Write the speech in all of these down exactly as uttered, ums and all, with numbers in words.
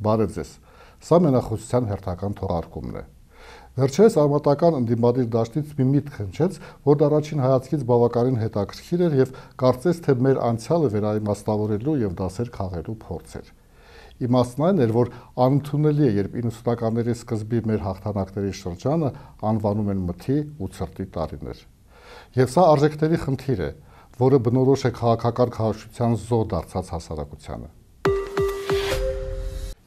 Բարև ձեզ։ Սա մենախոսության հերթական թողարկումն է։ Վերջերս արմատական ընդդիմադիր դաշտից մի միտք հնչեց, որ առաջին հայացքից բավականին հետաքրքիր էր եւ կարծես թե մեր անցյալը վերաիմաստավորելու եւ դասեր քաղելու փորձ էր։ Իմաստն այն էր, որ անընդունելի է, երբ իննսունականների սկզբի մեր հաղթանակների շրջանը անվանում են մթի ու ցրտի տարիներ։ Եվ սա արժեքների խնդիր է, որը բնորոշ է քաղաքական քարոզչության զոհ դարձած հասարակությանը։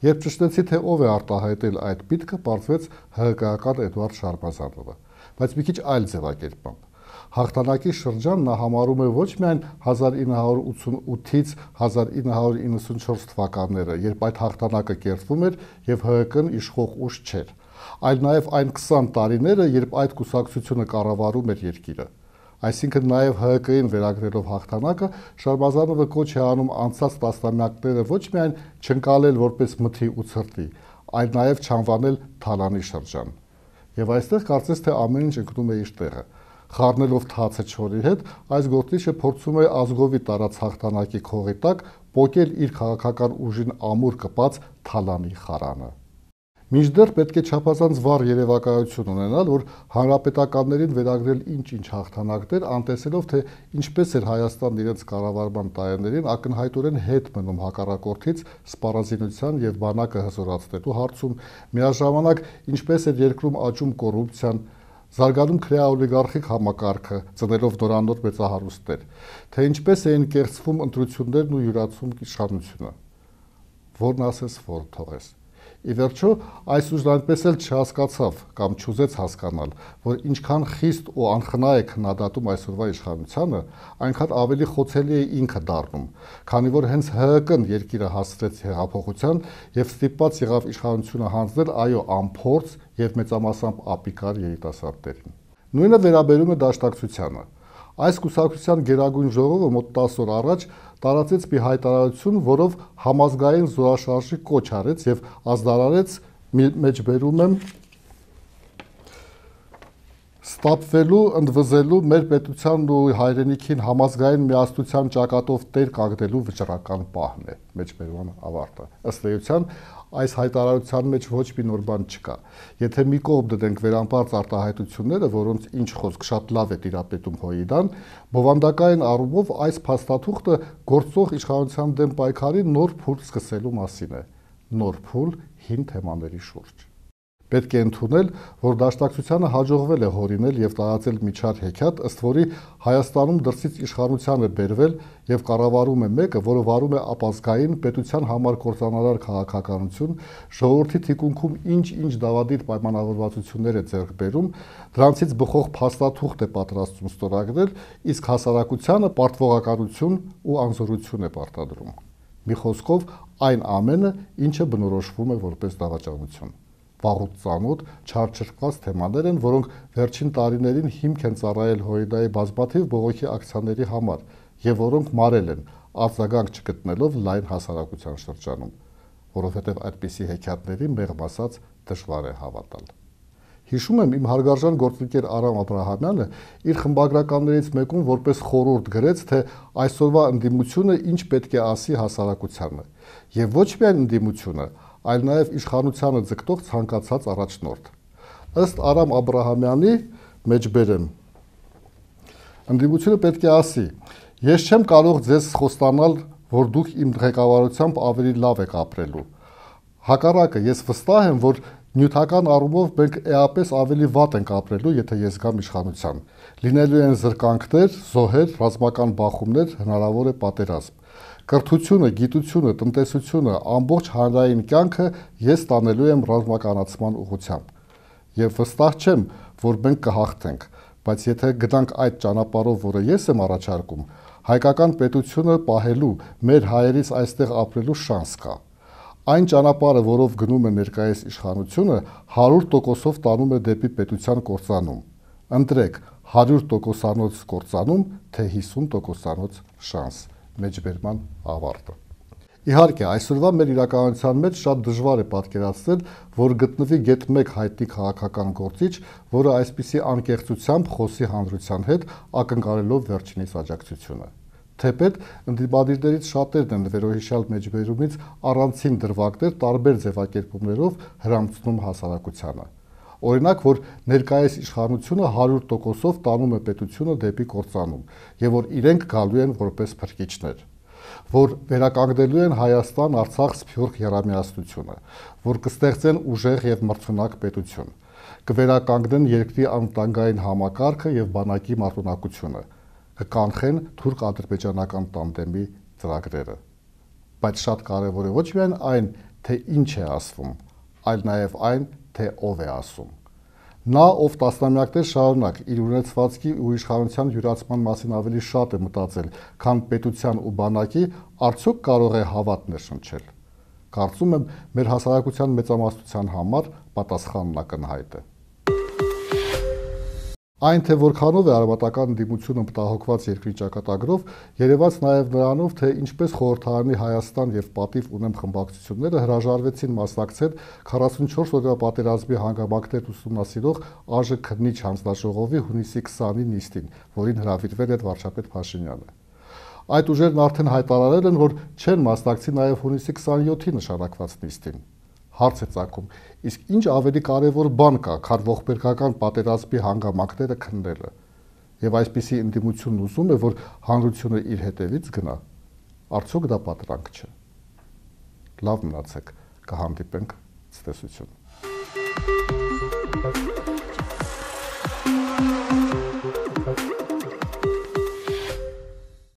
Երբ ճշտեցի, թե ով է արտահայտել այդ միտքը, պարզվեց ՀՀԿ-ական Էդուարդ Շարմազանովը, բայց մի քիչ այլ ձևակերպամբ։ Հաղթանակի շրջան նա համարում է ոչ միայն հազար ինը հարյուր ութսունութից հազար ինը հարյուր իննսունչորս թվականները, երբ այդ հաղթանակը կերտվում էր եւ ՀՀԿ-ն իշխող ուժ չէր, այլ նաեւ այն քսան տարիները, երբ այդ կուսակցությունը կառավարում էր երկիրը։ Այսինքն նաև ՀՀԿ-ին վերագրելով հաղթանակը, Շարմազանովը կոչ է անում անցած տասնամյակները ոչ միայն չընկալել որպես մթի ու ցրտի, այլ նաև չանվանել թալանի շրջան։ Եվ այստեղ կարծես թե ամեն ինչ ընկնում է իր տեղը։ Խառնելով թացը չորի հետ, այս գործիչը փորձում է ազգովի տարած հաղթանակի քողի տակ պոկել իր քաղաքական ուժին ամուր կպած թալանի խարանը։ Մինչդեռ պետք է չափազանց վառ երևակայություն ունենալ, որ հանրապետականներին վերագրել ինչ-ինչ հաղթանակներ, անտեսելով, թե ինչպես էր Հայաստանն իրենց կառավարման տարիներին ակնհայտորեն հետ մնում հակառակորդից սպառազինության եւ բանակը հզորացնելու հարցում, միաժամանակ ինչպես էր երկրում աճում կոռուպցիան, զարգանում քրեաօլիգարխիկ համակարգը, ծնելով նորանոր մեծահարուստներ, թե ինչպես էին կեղծվում ընտրություններն ու յուրացում իշխանությունը, որն ասես, որ թողես։ Ի վերջո, այս ուժն այնպես էլ չհասկացավ կամ չուզեց հասկանալ, որ ինչքան խիստ ու անխնա է քննադատում այսօրվա իշխանությանը, այնքան ավելի խոցելի է ինքը դառնում, քանի որ հենց ՀՀԿ-ն երկիրը հասցրեց հեղափոխության եւ ստիպված եղավ իշխանությունը հանձնել այո անփորձ եւ մեծամասամբ ապիկար երիտասարդներին։ Նույնը վերաբերում է դաշնակցությանը։ Այս կուսակցության գերագույն ժողովը մոտ տասը օր առաջ տարածեց մի հայտարարություն, որով համազգային զորաշարժի կոչ արեց եւ ազդարարեց մեջբերում եմ ստապվելու, ընդվզելու մեր պետությանն ու հայրենիքին համազգային միասնության ճակատով տեր կանգնելու վճռական պահն է, մեջբերման ավարտը։ Ըստ էության, այս հայտարարության մեջ ոչ մի նոր բան չկա։ Եթե մի կողմ դնենք վերամբարձ արտահայտությունները, որոնց ինչ խոսք շատ լավ է տիրապետում Հոյիդան, բովանդակային առումով այս փաստաթուղթը գործող իշխանության դեմ պայքարի նոր փուլ սկսելու մասին է։ Նոր փուլ հին թեմաների շուրջ։ Պետք է ընդունել, որ դաշնակցությանը հաջողվել է հորինել եւ տարածել միջար հեքիաթ, ըստ որի Հայաստանում դրսից իշխանության է բերվել եւ կառավարում է մեկը, որը վարում է ապազգային պետության համար կործանարար քաղաքականություն, ժողովրդի թիկունքում ինչ-ինչ դավադիր պայմանավորվածություններ է ձեռք բերում, դրանցից բխող փաստաթուղթ է պատրաստում ստորագրել, իսկ հասարակությանը պարտվողականություն ու անզորություն է պարտադրում։ Մի խոսքով, այն ամենը, ինչը բնորոշվում է որպես դավաճանություն։ Վաղուց ծանոթ, չարչրկված թեմաներ են, որոնք վերջին տարիներին հիմք են ծառայել Հոյիդայի բազմաթիվ բողոքի ակցիաների համար եւ որոնք մարել են, արձագանք չգտնելով լայն հասարակության շրջանում, որովհետեւ այդպիսի հեքիաթների մեղմ ասած դժվար է հավատալ։ Հիշում եմ, իմ հարգարժան գործընկեր Արամ Աբրահամյանը իր խմբագրականներից մեկում որպես խորհուրդ գրեց, թե այսօրվա ընդդիմությունը ինչ պետք է ասի հասարակությանը, եւ ոչ միայն ընդդիմությունը, այլ նաև իշխանությանը ձգտող ցանկացած առաջնորդ։ Ըստ Արամ Աբրահամյանի մեջբերեմ, ընդդիմությունը պետք է ասի. ես չեմ կարող ձեզ խոստանալ, որ դուք իմ ղեկավարությամբ ավելի լավ եք ապրելու։ Հակառակը, ես վստահ եմ, որ նյութական առումով մենք էապես ավելի վատ ենք ապրելու, եթե ես գամ իշխանության։ Լինելու են զրկանքներ, զոհեր, ռազմական բախումներ, հնարավոր է պատերազմ։ Կրթությունը, գիտությունը, տնտեսությունը, ամբողջ հանրային կյանքը ես տանելու եմ ռազմականացման ուղղությամբ։ Եվ վստահ չեմ, որ մենք կհաղթենք, բայց եթե գնանք այդ ճանապարհով, որը ես եմ առաջարկում, հայկական պետությունը պահելու, մեր հայերից այստեղ ապրելու շանս կա։ Այն ճանապարհը, որով գնում է ներկայիս իշխանությունը, հարյուր տոկոսով տանում է դեպի պետության կործանում։ Ընտրեք հարյուր տոկոսանոց կործանում, թե հիսուն տոկոսանոց շանս։ Մեջբերման ավարտը։ Իհարկե, այսօրվա մեր իրականության մեջ շատ դժվար է պատկերացնել, որ գտնվի գեթ մեկ հայտնի քաղաքական գործիչ, որը այսպիսի անկեղծությամբ խոսի հանրության հետ, ակնկալելով վերջինիս աջակցությունը։ Թեպետ ընդդիմադիրներից շատերն են վերոհիշյալ մեջբերումից առանցին դրվագներ տարբեր ձևակերպումներով հրամցնում հասարակությանը։ Օրինակ, որ ներկայիս իշխանությունը հարյուր տոկոսով տանում է պետությունը դեպի կործանում եւ որ իրենք գալու են որպես փրկիչներ, որ վերականգնելու են Հայաստան, Արցախ, Սփյուռք եռամիասնությունը, որ կստեղծեն ուժեղ եւ մրցունակ պետություն, կվերականգնեն երկրի անվտանգային համակարգը եւ բանակի մարտունակությունը, կկանխեն թուրք-ադրբեջանական տանդեմի ծրագրերը։ Բայց շատ կարևոր է ոչ միայն այն, թե ինչ է ասվում, այլ նաեւ այն, թե ով է ասում։ Նա, ով տասնամյակներ շարունակ իր ունեցվածքի ու իշխանության յուրացման մասին ավելի շատ է մտածել, քան պետության ու բանակի, արդյոք կարող է հավատ ներշնչել։ Կարծում եմ, մեր հասարակության մեծամասնության համար պատասխանն ակնհայտ է։ Այն, թե որքանով է արմատական ընդդիմությունը մտահոգված երկրի ճակատագրով, երևաց նաև նրանով, թե ինչպես խորհրդարանի Հայաստան եւ Պատիվ ունեմ խմբակցությունները հրաժարվեցին մասնակցել քառասունչորս օրվա պատերազմի հանգամանքներ ուսումնասիրող ԱԺ քննիչ հանձնաժողովի հունիսի քսանի նիստին, որին հրավիրվել էր վարչապետ Փաշինյանը։ Այդ ուժերն արդեն հայտարարել են, որ չեն մասնակցի նաև հունիսի քսանյոթի նշանակված նիստին։ Հարց է ծագում, իսկ ինչ ավելի կարևոր բան կա, քան ողբերգական պատերազմի հանգամանքները քննելը։ Եվ այսպիսի ընդդիմությունն ուզում է, որ հանրությունը իր հետևից գնա։ Արդյոք դա պատրանք չէ։ Լավ մնացեք, կհանդիպենք ցտեսություն։